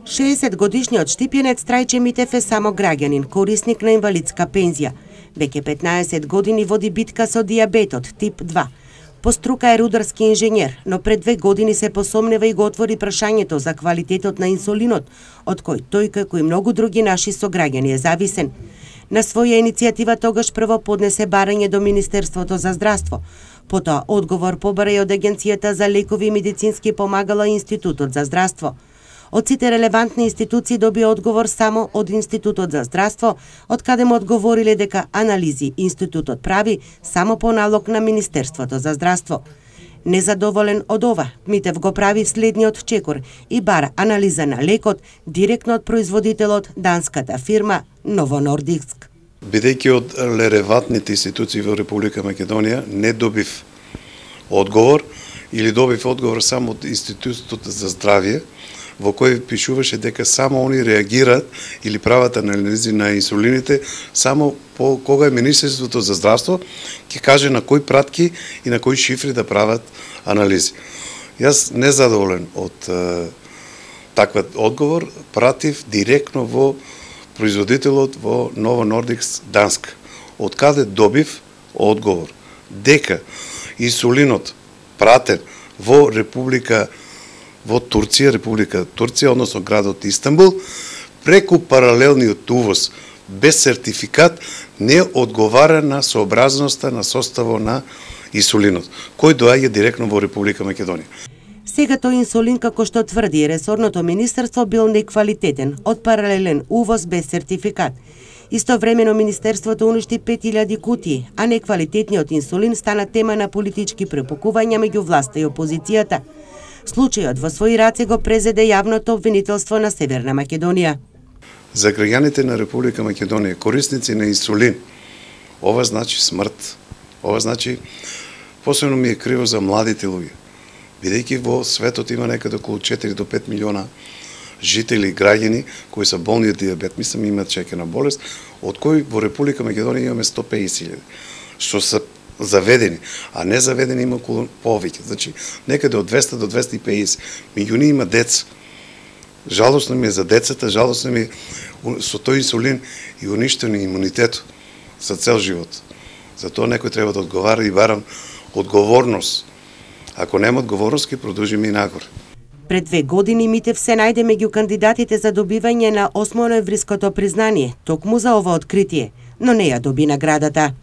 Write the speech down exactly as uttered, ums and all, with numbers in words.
шеесет годишниот Штипјанец Трајче Митев е само граѓанин, корисник на инвалидска пензија. Веќе петнаесет години води битка со дијабетот тип два. По струка е рударски инженер, но пред две години се посомнева и го отвори прашањето за квалитетот на инсулинот, од кој тој како и многу други наши сограѓани е зависен. На своја иницијатива тогаш прво поднесе барање до Министерството за здравство. Потоа одговор побара и од Агенцијата за лекови и медицински помагала и Институтот за здравство. Од сите релевантни институции доби одговор само од Институтот за здравство, од каде му одговориле дека анализи институтот прави само по налог на Министерството за здравство. Незадоволен од ова, Митев го прави следниот чекор и бара анализа на лекот директно од производителот, данската фирма Novo Nordisk. Бидејќи од релевантните институции во Република Македонија не добив одговор или добив одговор само од Институтот за здравје, во кој пишуваше дека само они реагираат или прават анализи на инсулините само по кога Министерството за здравство ќе каже на кои пратки и на кои шифри да прават анализи. Јас незадоволен од е, такват одговор, пратив директно во производителот во Novo Nordisk Данска, од каде добив одговор дека инсулинот пратен во Република во Турција, Република Турција, односно градот Истанбул, преку паралелниот увоз без сертификат не одговара на сообразноста на составот на инсулинот, кој доаѓа директно во Република Македонија. Сега тој инсулин, како што тврди ресорното министерство, бил неквалитетен, од паралелен увоз без сертификат. Истовремено министерството уништи пет илјади кутии, а неквалитетниот инсулин стана тема на политички препукувања меѓу власта и опозицијата. Случајот во своји раце го презеде јавното обвинителство на Северна Македонија. За граѓаните на Република Македонија, корисници на инсулин, ова значи смрт. Ова значи, посебно ми е криво за младите луѓе. Бидејќи во светот има некаде околу четири до пет милиона жители, граѓани кои са болни од дијабет, мислам имаат шеќерна болест, од кои во Република Македонија имаме сто пеесет илјади, што се заведени, а не заведени има околу повеќе. Значи, некаде од двесте до двесте и пеесет. Меѓу нив има деца. Жалосно ми е за децата, жалосно ми е со тој инсулин и уништен имунитет за цел живот. Затоа некој треба да одговара и барам одговорност. Ако нема одговорност, ќе продолжиме и нагоре. Пред две години Митев се најде меѓу кандидатите за добивање на осмо ноемвриското признание, токму за ова откритие, но не ја доби наградата.